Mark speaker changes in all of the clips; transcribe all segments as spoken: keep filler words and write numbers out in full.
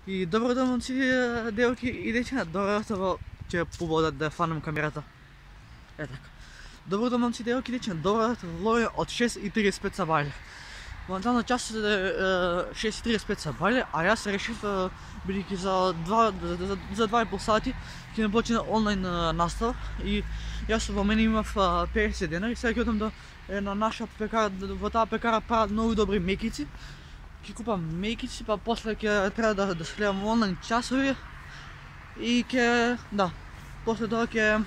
Speaker 1: И добро да момци, девојки и дечиња, добро ќе пободат да фанам камерата. Е така. Добро да момци, девојки и дечиња, добро во влоге од шест и тридесет и пет са бајле. Моментално часот е шест и тридесет и пет са бајле, а јас решив бидејќи за два за, за два и пол сати ќе не почне онлайн настава и јас во мене имав петдесет денари и сега ќе одам да е на наша пекара, во таа пекара прават многу добри мекици. Ќе купам мекици, па после ќе треба да да следам онлайн часови и ќе да, после тоа ќе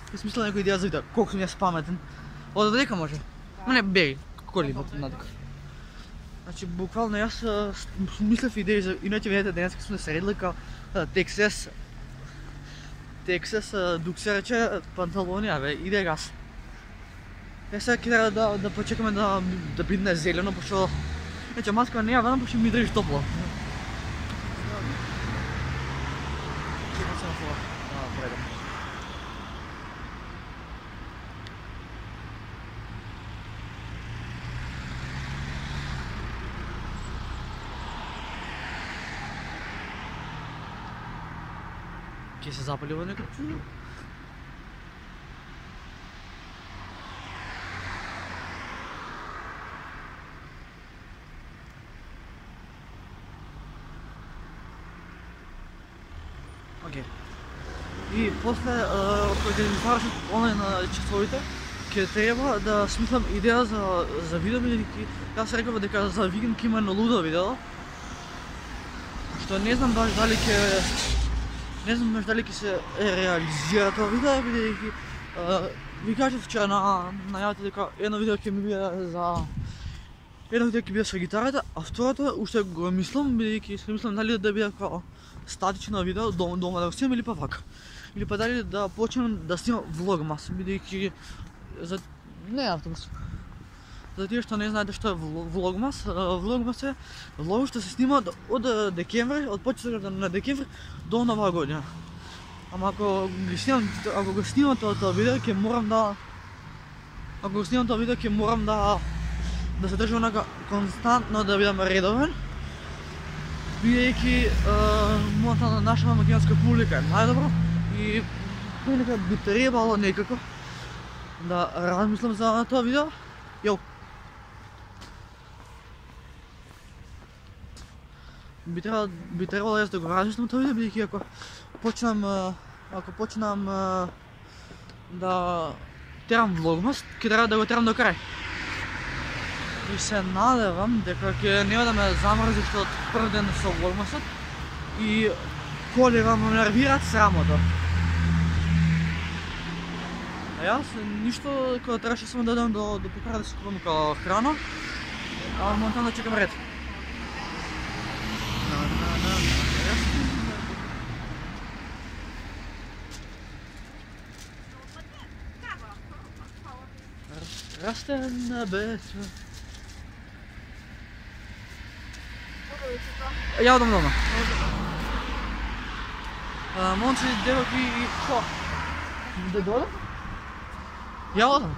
Speaker 1: ќе смислам некој идеја за видео, колку сум јас паметен. Од дека може. Ма не беги, коли надека. Значи буквално јас мислев идеи за иначе видете денеска сме се редли као Texas Texas дук се рече панталони, абе иде газ. Е сега ќе треба да да почекаме да да бидне зелено, пошто значи маска не ја вадам, пошто ми држи топло. Ќе се запали во некој чудо. Океј. И после кога ќе ми завршат онлайн часовите, ќе треба да смислам идеја за за видео, бидејќи јас реков дека за викенд ќе има едно лудо видео. Што не знам баш дали ќе Не знам баш дали ќе се реализира тоа видео, бидејќи ви кажав вчера на најавата дека едно видео ќе ми биде за едно видео ќе биде со гитарата, а второто уште го мислам, бидејќи се мислам дали да биде како статично видео дома, дома да го снимам или па вака. Или па дали да почнем да снимам влогмас, бидејќи за не автомас. За тие што не знаете што е влогмас, влогмас е влог што се снима од декември, од почетокот на декември до нова година. Ама ако ги снимам, ако го снимам тоа тоа видео, ќе морам да ако го снимам тоа видео, ќе морам да да се држам онака константно, да бидам редовен. Бидејќи мојата наша македонска публика е најдобро и понекад би требало некако да размислам за тоа видео. Јоу. Би требало би требало јас да го размислам тоа видео, бидејќи ако почнам ако почнам да терам влогмас, ќе треба да го терам до крај. И се надевам дека ќе нема да ме замрзи што од прв ден со влогмасот и колева ме нервираат срамото. А јас ништо кога требаше само да одам до до пекара да си купам како храна, а моментално чекам ред. Расте на бетон. Ја одам дома. Момци, девојки и што? Да дојдам? Ја одам.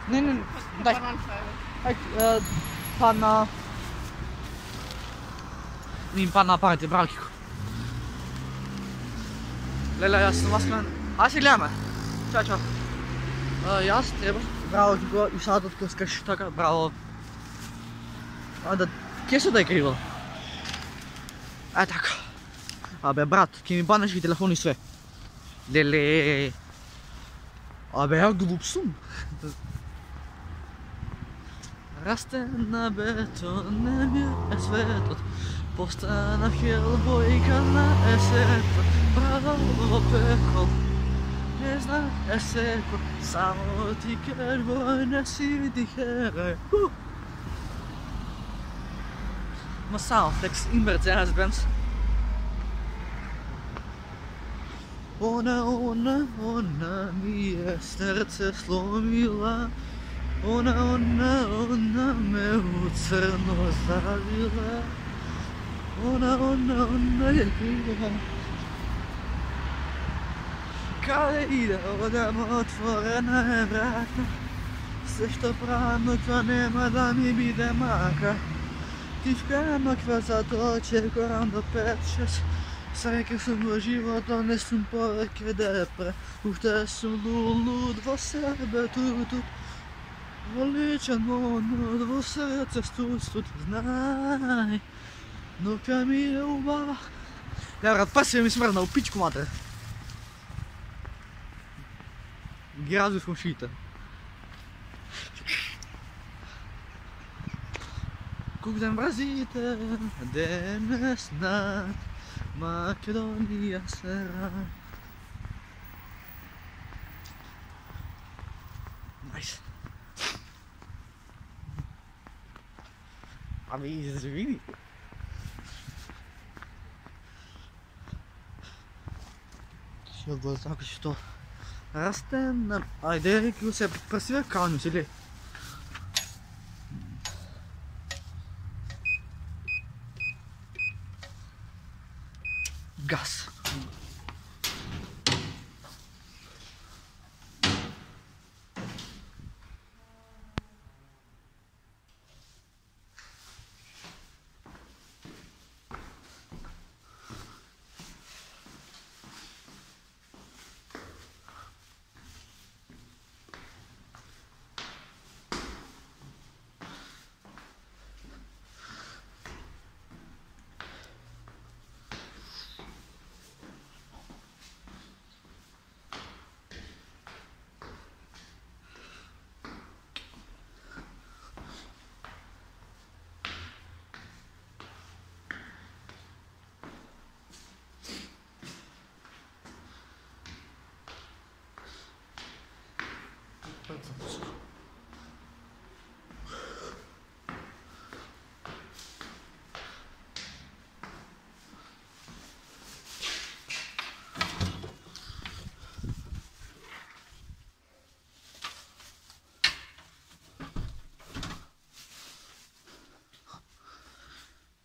Speaker 1: Не, не, дај. Ајде, па на... Ним па на парите, браво Кико. Леле, јас сум маскан. Ајде се гледаме. Чао, чао. Јас треба. Браво Кико, и садот кој скаш така, браво. А да, ке се да е криво? Е така. Абе брат, ке ми банеш и телефон и све. Леле. Абе ја глуп сум. Расте на бетон, не ми е светот. Постанав хелбојка на есето. Браво пекол. Не знам есеко, само ти кербој не си ти херај. Ма само флекс и Мерцедес Бенц. Она, она, она ми е срце сломила. Она, она, она ме у црно завила. Она, она, она е крива. Каде иде, одам отворена е врата. Се што правам, но тоа нема да ми биде мака. Ti вкарам квазато, чекорам до пет-шест. Среќа сум во живото, не сум повеќе депре. Уште сум луд во себе, ту-ту. Воличен монот во срце, студ-студ, знај. Но ка ми е убава. Да, брат, па си ми смрднал, пичку матре. Ги развив комшиите. Кук ден вразите, денес над Македонија се рај. Најс. Ами, извини. Ще го така што растен, ајде, ќе се пресиве кању, си ли? Газ.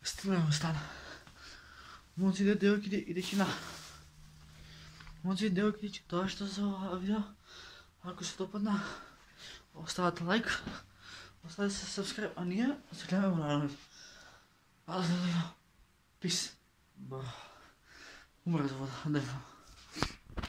Speaker 1: Стигнемо стана. Момци, девојки и дечина. Момци, девојки, тоа што за ова видео. Ако се допадна, оставате лайк, оставете се subscribe, а ние се гледаме во наредното. Аз не знам. Peace. Умрат вода, дефа.